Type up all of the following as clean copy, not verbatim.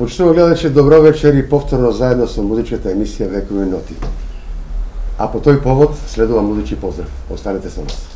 Почитувани гледачи, добро вечер и повторно заедно со музичката емисија Векови ноти. А по тој повод следува музички поздрав. Останете со нас.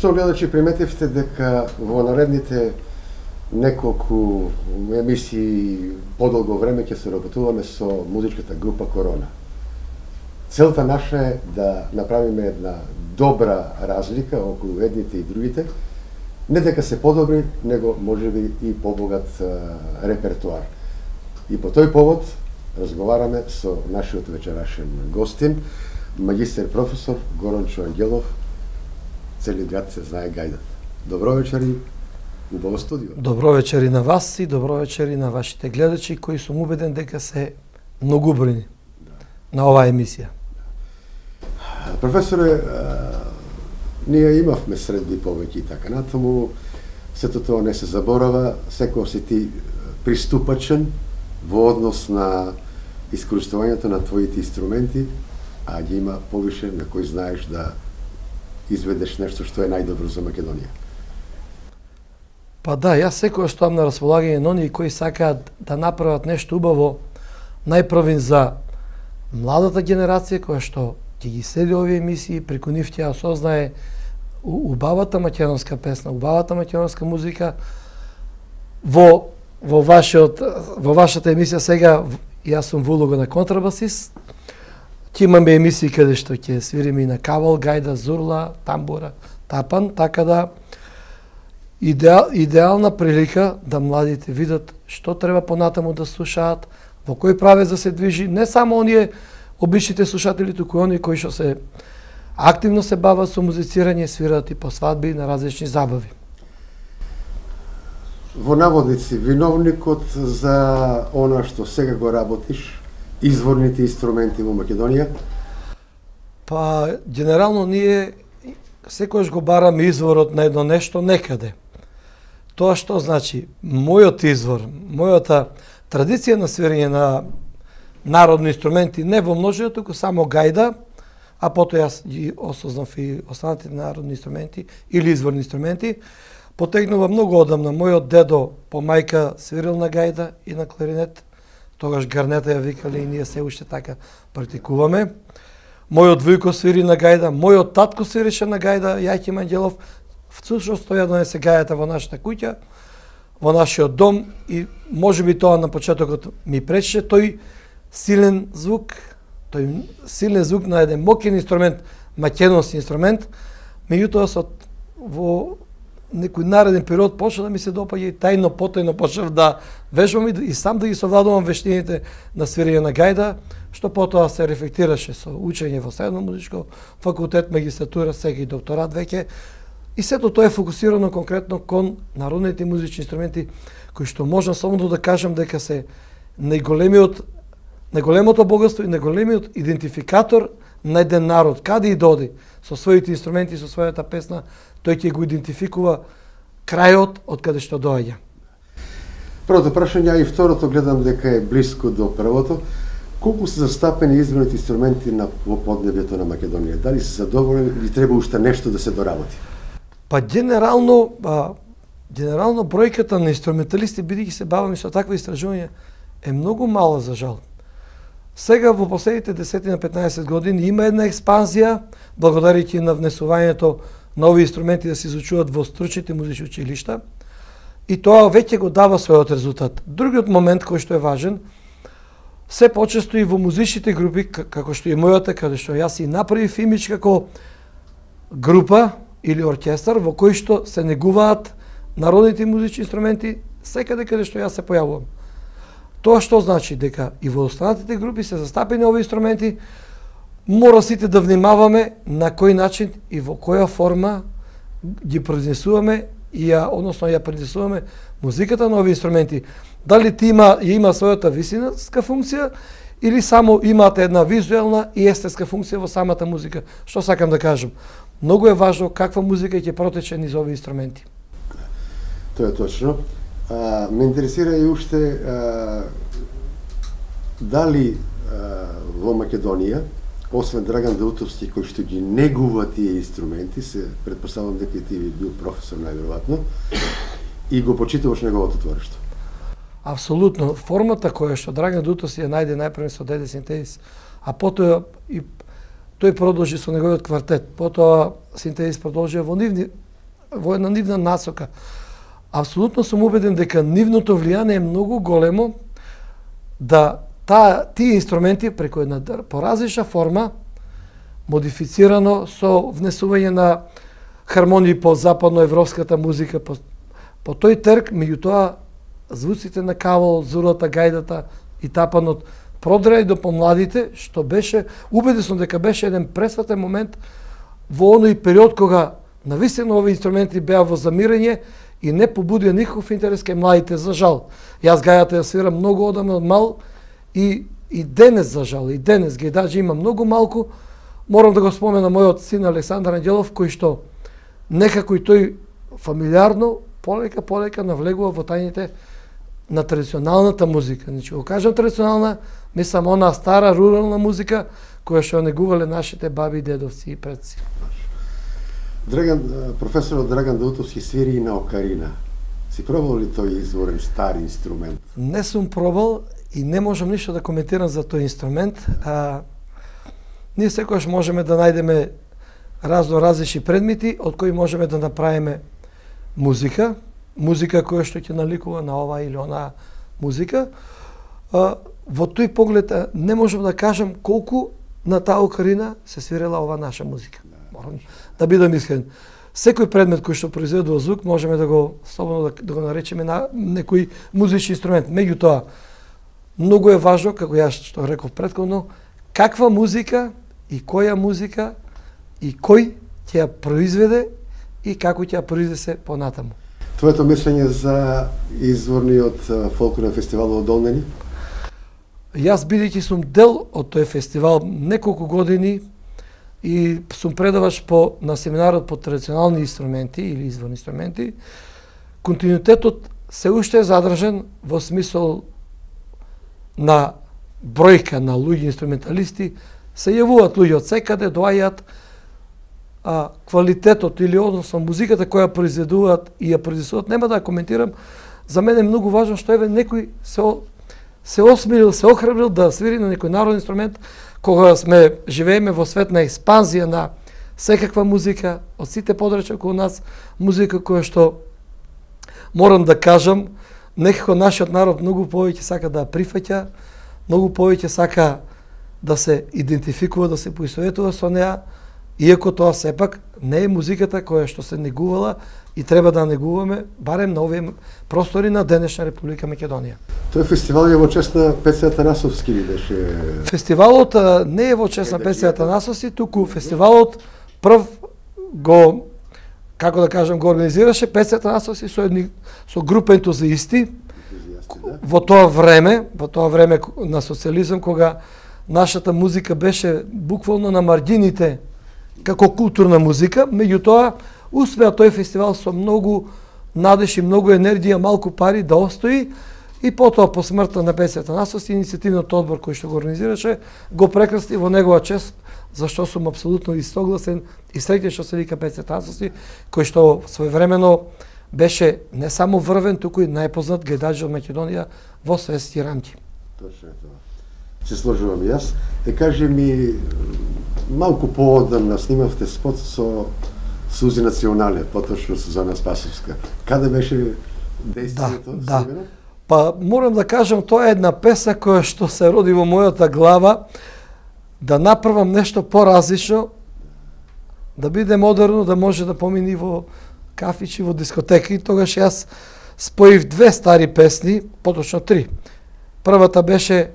Што гледачи, приметивте дека во наредните неколку емисии подолго време ќе се работуваме со музичката група Корона. Целта наша е да направиме една добра разлика околу едните и другите, не дека се подобри, него можеби и побогат репертуар. И по тој повод разговараме со нашиот вечерашен гостин, магистер професор Горанчо Ангелов. Цели град се знае гајдат. Добро вечер и убаво студио. Добро вечер и на вас и добро вечер и на вашите гледачи, кои сум убеден дека се многубројни на оваа емисија. Професоре, ние имавме средби повеќе и така натаму, сето тоа не се заборава, секој си ти приступачен во однос на искористувањето на твоите инструменти, а ги има повише на кои знаеш да изведеш нешто што е најдобро за Македонија? Па да, јас секогаш стоам на располагање на оние кои сакаат да направат нешто убаво, најпрвин за младата генерација која што ќе ги следи овие емисии, преку нив ќе осознае убавата македонска песна, убавата македонска музика. Во вашата емисија сега јас сум во улога на контрабасист. Ќе имаме емисии каде што ќе свириме и на кавал, гајда, зурла, тамбура, тапан, така да идеална прилика да младите видат што треба понатаму да слушаат, во кој правец да се движи, не само оние обичните слушатели, туку оние кои што се активно се бават со музицирање, свираат и по свадби на различни забави. Во наводници, виновникот за она што сега го работиш, изворните инструменти во Македонија? Па, генерално ние секојаш го бараме изворот на едно нешто некаде. Тоа што значи, мојот извор, мојата традиција на свирење на народни инструменти, не во множина, туку само гајда, а потоа јас ги осознав и останатите народни инструменти или изворни инструменти, потегнува многу одамна. Мојот дедо по мајка свирил на гајда и на кларинет, тогаш гарнета ја викале и ние се уште така практикуваме. Мојот вујко свири на гајда, мојот татко свирише на гајда, Јахим Ангелов, всушност тој ја донесе гајата во нашата куќа, во нашиот дом и можеби тоа на почетокот ми пречеше, тој силен звук на еден мокен инструмент, македонски инструмент, меѓутоа во некој нареден период почна да ми се допаѓа и потајно почнав да вежбам и сам да ги совладувам вештините на свирење на гајда, што потоа се рефлектираше со учење во Средно музичко факултет, магистратура, сега и докторат веќе. И сето тоа е фокусирано конкретно кон народните музички инструменти, кои што можам само да кажам дека се најголемото богатство и најголемиот идентификатор на еден народ. Каде и доди со своите инструменти, со својата песна, тој ќе го идентификува крајот од каде што доаѓа. Првото прашање и второто гледам дека е блиско до првото. Колку се застапени изворните инструменти во поднебјето на Македонија? Дали се задоволени или треба уште нешто да се доработи? Па генерално бројката на инструменталисти, бидејќи се баваме со таква истражување, е многу мала за жал. Сега во последните 10 на 15 години има една експанзија, благодарејќи на внесувањето на овие инструменти да се изучуваат во стручните музички училишта, и тоа веќе го дава својот резултат. Другиот момент кој што е важен, се почесто и во музичните групи, како што е мојата, каде што јас и направив имидж како група или оркестар во кој што се негуваат народните музички инструменти секаде каде што јас се појавувам. Тоа што значи дека и во останатите групи се застапени овие инструменти, мора сите да внимаваме на кој начин и во која форма ги произнесуваме односно ја произнесуваме музиката на овие инструменти. Дали има својата висинска функција или само имаат една визуелна и естетска функција во самата музика. Што сакам да кажам? Многу е важно каква музика ќе протече низ овие инструменти. Тоа е точно. Ме интересира и уште дали во Македонија, освен Драган Даутовски кој што ги негува тие инструменти, се претпоставам дека и ти бил професор најверојатно, и го почитуваш неговото творештво. Апсолутно. Формата која што Драган Даутовски ја најде најпрво со Деде Синтезис, а потоа и тој продолжи со неговиот квартет, потоа Синтезис продолжи во една нивна насока. Апсолутно сум убеден дека нивното влијание е многу големо да тие инструменти преку една поразлична форма, модифицирано со внесување на хармонии по западноевропската музика, по тој трк, меѓутоа звуците на кавал, зурлата, гајдата и тапанот продреа и до помладите, што беше, убеден сум дека беше еден пресватен момент во оној период кога навистина овие инструменти беа во замирање и не побудија никаков интерес кај младите, за жал. Јас гајата ја свирам многу одамна од мал и денес, за жал, и денес ги даже има многу малку. Морам да го спомена мојот син Александар Ангелов, кој што некако и тој фамилиарно, полека навлегува во тајните на традиционалната музика. Значи, го кажам традиционална, мислам она стара рурална музика која што негувале нашите баби, дедовци и предци. Професорот Драган Даутовски свири и на окарина. Си пробал ли тој изворен стари инструмент? Не сум пробал и не можам ништо да коментирам за тој инструмент. Ние секогаш можеме да најдеме различни предмети од кои можеме да направиме музика која што ќе наликува на ова или она музика. Во тој поглед не можам да кажам колку на таа окарина се свирела ова наша музика. Морам да бидам искрен. Секој предмет кој што произведува звук можеме да го слободно да го наречеме на некој музички инструмент. Меѓутоа, многу е важно, како јас што реков претходно, каква музика и која музика и кој ќе ја произведе и како ќе ја произведе понатаму. Твоето мислење за изворниот фолклорен фестивал во Долнени? Јас бидејќи сум дел од тој фестивал неколку години и сум предавач на семинарот по традиционални инструменти или изворни инструменти, континуитетот се уште е задржен во смисол на бројка на луѓе инструменталисти, се јавуваат луѓе од секаде, доаѓаат, квалитетот или односно музиката која произведуваат и ја произведуваат, нема да ја коментирам, за мене е многу важно што еве некој се осмелил, се охрабрил да свири на некој народен инструмент, кога живееме во свет на експанзија на секаква музика, од сите подрачја околу нас, музика која што, морам да кажам, некако нашиот народ многу повеќе сака да прифаќа, многу повеќе сака да се идентификува, да се поистоветува со неа, иако тоа сепак не е музиката која што се негувала и треба да негуваме, барем на овие простори на денешна Република Македонија. Тој фестивал е во чест на Пеце Атанасовски ли беше? Фестивалот не е во чест на Пеце Атанасовски, туку фестивалот прв го, како да кажам, го организираше Пеце Атанасовски со група ентузиисти во тоа време на социализам, кога нашата музика беше буквално на маргините како културна музика, меѓутоа успеа тој фестивал со многу надеж и многу енергија, малку пари да остои и потоа по смртта на Пеце Атанасовски иницијативниот одбор кој што го организираше го прекрасти во негова чест, зашто сум апсолутно истогласен и среќен што се вика Пеце Атанасовски, кој што своевремено беше не само врвен, туку и најпознат гледач од Македонија во светски рамки. Точно е тоа. Се сложувам јас. Кажи ми, малку поодамна снимавте спот со Сузи Национале, поточно Сузана Спасовска. Каде беше действието? Да. Па морам да кажам, тоа е една песна која што се роди во мојата глава, да направам нешто поразлично, да биде модерно, да може да помини во кафичи, во дискотеки. Тогаш јас споив две стари песни, поточно три. Првата беше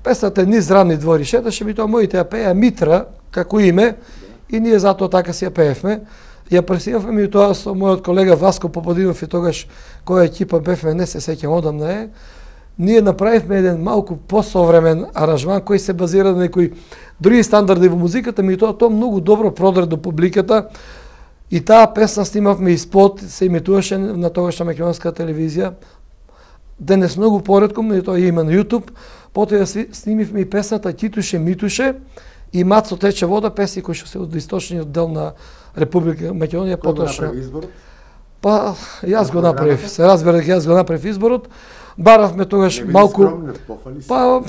песната Низ рамни двори шеташе, ми тоа моите ја пеја Митра, како име, и ние затоа така си ја пеевме. Ја преснимавме и тоа со мојот колега Васко Поподинов и тогаш која екипа бевме, не се сеќам одамна е. Ние направивме еден малку посовремен аранжман кој се базира на некои други стандарди во музиката, ми тоа многу добро продре до публиката. И таа песна снимавме и спот, се имитуваше на тогашна македонска телевизија. Денес многу поретко, но тоа има на YouTube. Потоа ја снимивме и песната Титуше Митуше и Мацо тече вода, песни кои што се од источниот дел на Република Македонија. Кој го направи изборот? Па, јас го направив. Се разбира дека јас го направив изборот. Баравме тогаш малку... Па,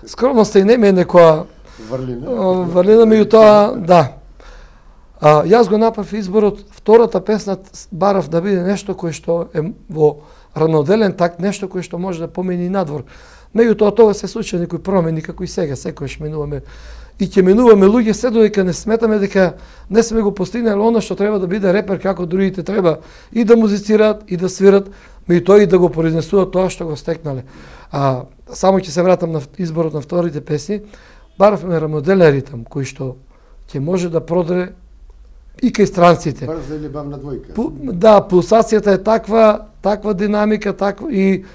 скромноста и не ме некоја врлина, меѓутоа, да. Јас го направив изборот, втората песна барав да биде нешто кој што е во равноделен такт, нешто кој што може да помени надвор. Меѓутоа тоа се случи некои промени, како и сега, секојаш минуваме и ќе минуваме луѓе се додека не сметаме дека не сме го постигнали она што треба да биде репер како другите треба и да музицираат и да свират, меѓутоа и да го произнесуваат тоа што го стекнале. Само ќе се вратам на изборот на вторите песни, баравме равноделен ритам кој што ќе може да продре и кај странците. Брза или бавна двојка? Да, пулсацијата е таква динамика, и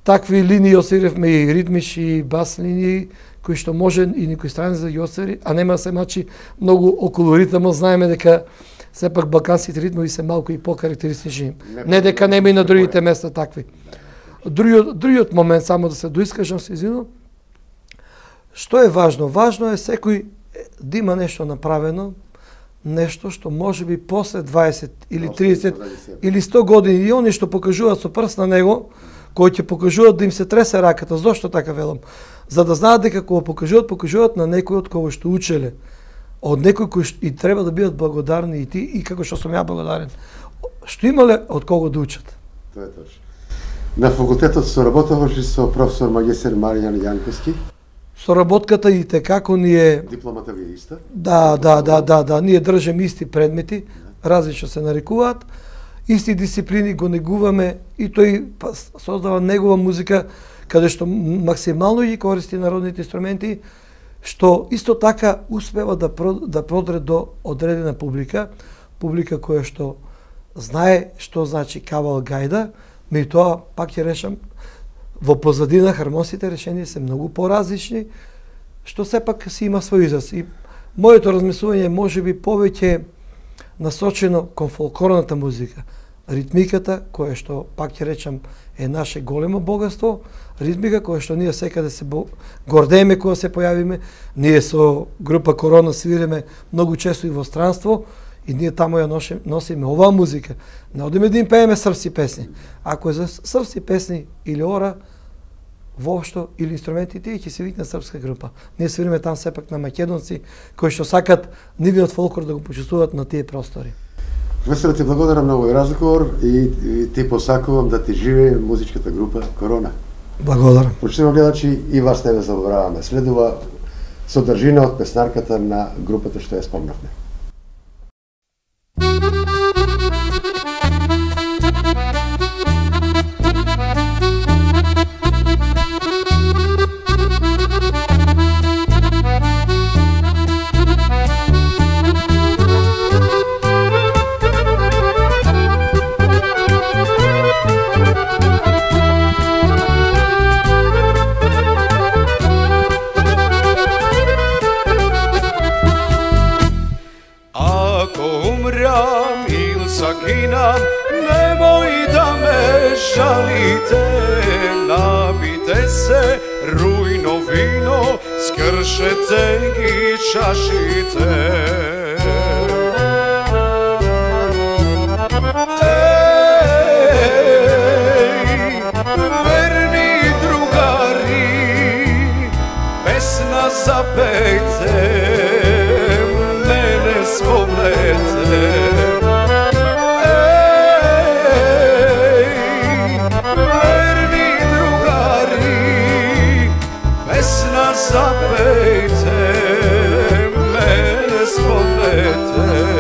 такви линии освиревме и ритмични и бас линии кои што може и никој странец да ги освири, а нема се мачи многу околу ритмот. Знаеме дека сепак балканските ритмови се малку и покарактеристични. Не дека нема и на другите места такви. Другиот момент, само да се доискажам, се извинувам, што е важно? Важно е секој да има нешто направено, нешто што може би после 20 или 30 или 100 години и они што покажуваат со прст на него, кои ќе покажуваат да им се тресе раката. Зошто така велам? За да знаат дека кога покажуваат на некој од кого што учеле, од некој кој и треба да бидат благодарни и ти, и како што сум ја благодарен, што имале од кого да учат. Тоа е точно. На факултетот соработуваш со професор магистер Маријан Јанковски? Соработката и како ни е... Дипломата ви е иста? Да, ние држиме исти предмети, различно се нарекуваат, исти дисциплини го негуваме и тој создава негова музика, каде што максимално ги користи народните инструменти, што исто така успева да продре до одредена публика која што знае што значи кавал гајда, меѓутоа пак ќе решам, во позадина хармонските решенија се многу поразлични, што сепак си има свој израз. И моето размислување може би повеќе насочено кон фолклорната музика. Ритмиката, која што, пак ќе речам, е наше големо богатство, ритмика која што ние секаде се гордееме кога се појавиме, ние со група Корона свиреме многу често и во странство, и ние тамо ја носиме оваа музика. Не одиме да им пееме српски песни. Ако е за српски песни или ора, воопшто или инструменти, тие ќе се викне српска група. Ние свириме там сепак на македонци, кои што сакат нивиот фолклор да го почувствуваат на тие простори. Професор, ти благодарам на овој разговор и ти посакувам да ти живее музичката група Корона. Благодарам. Почитувам гледачи, и вас не ве забораваме. Следува содржина од песнарката на групата што ја спомнавме. Nemoj da me žalite, napite se rujno vino, skršete i čašite. Ej, verni drugari, pesna zapejte, mene spomnete. Zapejte, mene spomnete.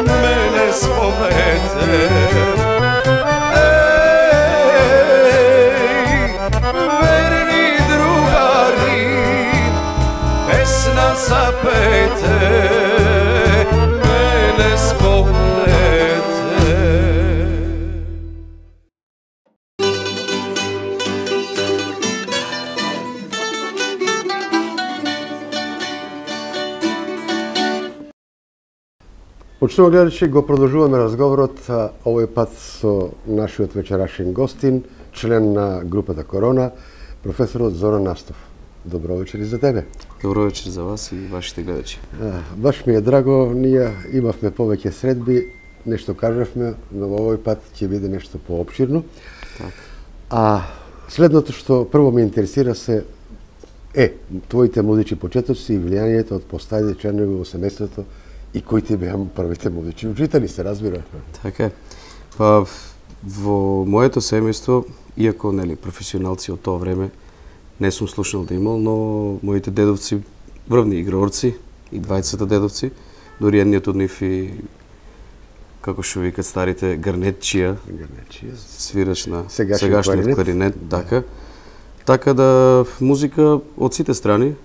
mene spomnete. Verni drugari, pesna zapete, mene spomnete. Почнуваат гледачи, го продолжуваме разговорот овој пат со нашиот вечерашен гостин, член на групата Корона, професорот Зоран Настов. Добро вечер и за тебе. Добро вечер за вас и вашите гледачи. Баш ми е драго, ние имавме повеќе средби, нешто кажавме, но овој пат ќе биде нешто поопширно. Так. А следното што прво ме интересира се твоите музички почетоци и влијанието од постаите членови во семејството и кои ти беа првите музички учители, се разбира. Така е. Па во моето семејство, иако нели професионалци од тоа време не сум слушнал да имал, но моите дедовци врвни играорци и двајцата дедовци, дури едниот од нив и како што викат старите гарнетчија, свирач на сегашниот кларинет, така. Така да музика од сите страни.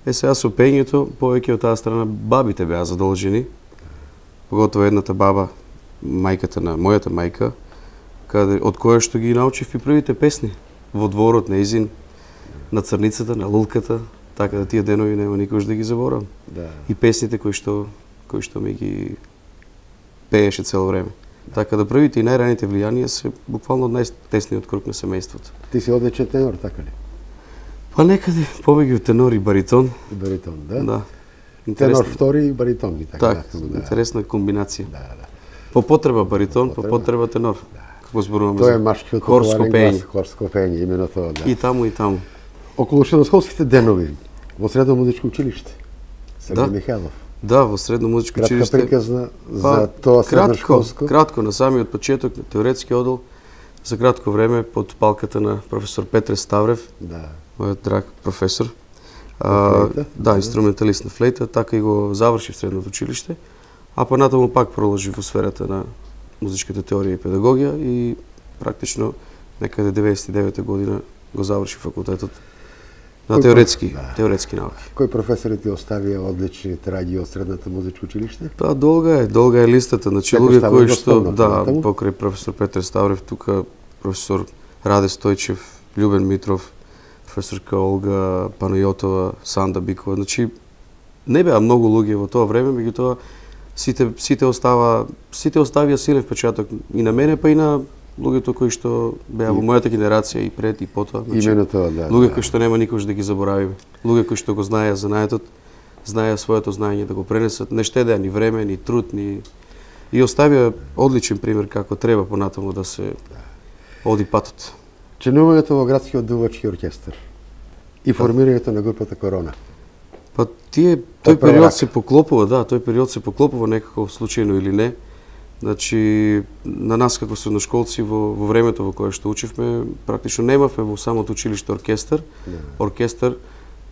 Сега со пењето, повеќе од таа страна бабите беа задолжени, поготово едната баба, мајката на мојата мајка, од која што ги научив и првите песни во дворот на Изин, на Црницата, на Лулката, така да тие денови нема никош да ги заборавам. Да. И песните кои што ми ги пееше цело време. Така да првите и најраните влијанија се буквално од најтесниот круг на семејството. Ти си одличен тенор, така ли? Па некаде повеќе тенор и баритон. Баритон, да? Да. Тенор втори и баритон, така. Так, интересна комбинација. Да. По потреба баритон, по потреба тенор. Како зборуваме Тоа е за машкиот хорско популарен пење. глас, хорско пење, имено тоа, да. И таму и таму. Околу средношколските денови во Средно музичко училиште. Сергеј Михајлов. Да, во Средно музичко Кратка училиште. приказна за тоа средношколско. Кратко на самиот почеток на теоретски одел, за кратко време под палката на професор Петре Ставрев, Да. мојот драг професор. флейта? Да, инструменталист на флейта, така и го заврши в Средното училиште, а понатаму пак продолжи во сферата на музичката теорија и педагогија и практично некаде 99 година го заврши факултетот на теоретски науки. Кој професори ти оставија одлични траги од Средното музичко училиште? Па долга е листата, значи Како луѓе става кои го што спомнат, покрај професор Петар Ставрев, тука професор Раде Стојчев, Љубен Митров, професорка Олга Панајотова, Санда Бикова, значи не беа многу луѓе во тоа време, меѓутоа сите оставија силен впечаток и на мене, па и на луѓето кои што беа во мојата генерација и пред и потоа. Имено тоа, да. Луѓе кои што нема никош да ги заборавиме. Луѓе кои што го знаеа знаетот, знаеа своето знаење да го пренесат, не штедеа ни време, ни труд, ни и оставија одличен пример како треба понатаму да се оди патот. Членувањето во градскиот дувачки оркестар и формирањето на групата Корона. Па тој период се поклопува, некако случајно или не. Значи, на нас како средношколци во времето во кое што учевме, практично немавме во самото училиште оркестар. Оркестар,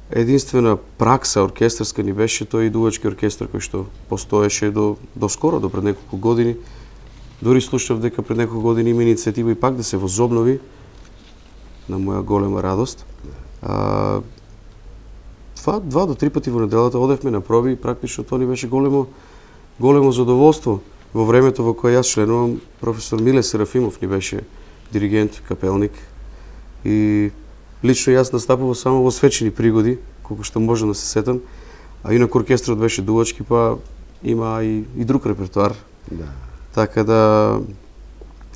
единствена пракса оркестарска ни беше тој дувачки оркестар кој што постоеше до скоро, до пред неколку години. Дори слушав дека пред неколку години има иницијатива и пак да се возобнови, на моја голема радост. 2 до 3 пати во неделата одевме на проби и практично тоа ни беше големо задоволство. Во времето во кое јас членувам, професор Миле Серафимов ни беше диригент, капелник и лично јас настапував само во свечени пригоди, колку што можам да се сетам, а инаку оркестрот беше дувачки, па има и друг репертоар. Да. Така да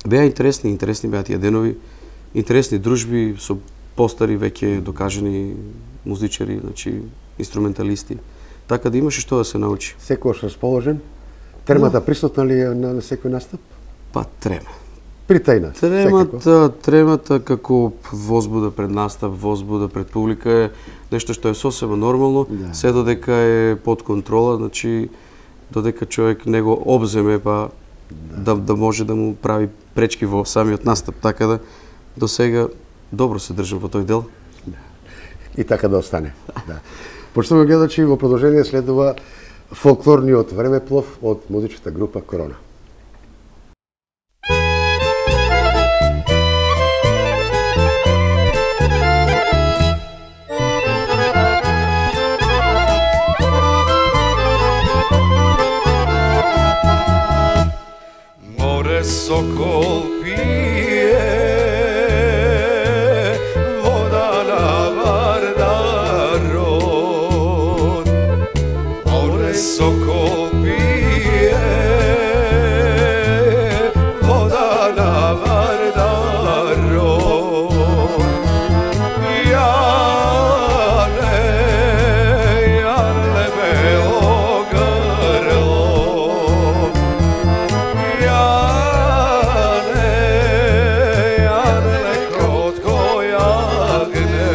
беа интересни беа тие денови, интересни дружби со постари веќе докажани музичари, значи инструменталисти. Така да имаше што да се научи. Секојаш расположен? Тремата присутна ли е на секој настап? Па трема. Притајна? Тремата како возбуда пред настап, возбуда пред публика е нешто што е сосема нормално, се додека е под контрола, значи додека човек не го обземе, па да може да му прави пречки во самиот настап. Така да до сега добро се држам во тој дел. И така да остане. Да. Почнуваме гледачи, во продолжение следува фолклорниот времеплов од музичката група Корона. Море сокол пие, вода на Вардарот. Море сокол пие, вода на Вардарот. Јане бело грло, Јане кротко јагне.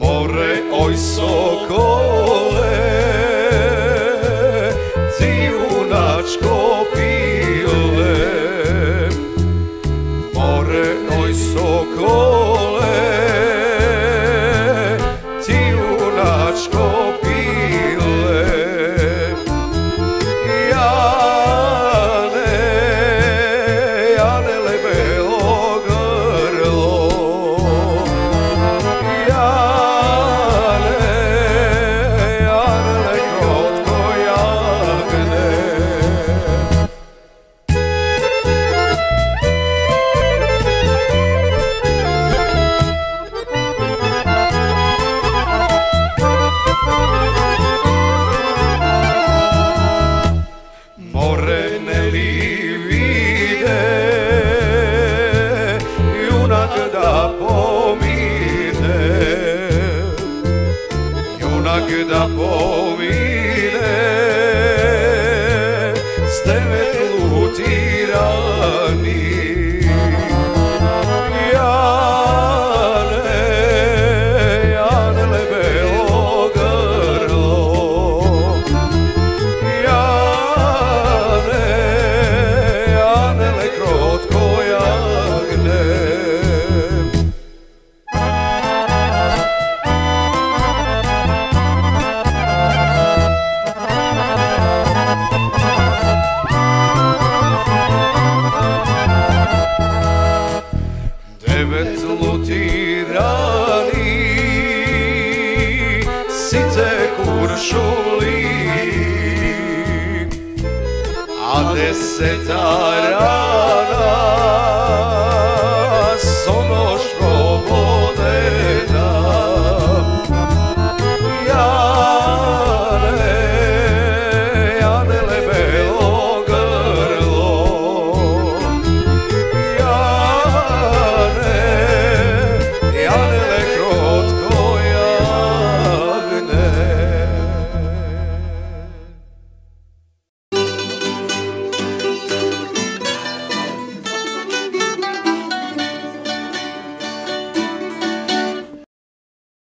Море, ој соколе, ти јуначко пиле. Море, ој соколе, ти јуначко пиле. Јане лебело грло, Јане кротко јагне. Море не ли виде, јунак да помине, јунак да помине, с девет лути рани. Јане лебело грло, Јане кротко јагне. Девет лути рани, сите куршули, а 10 рана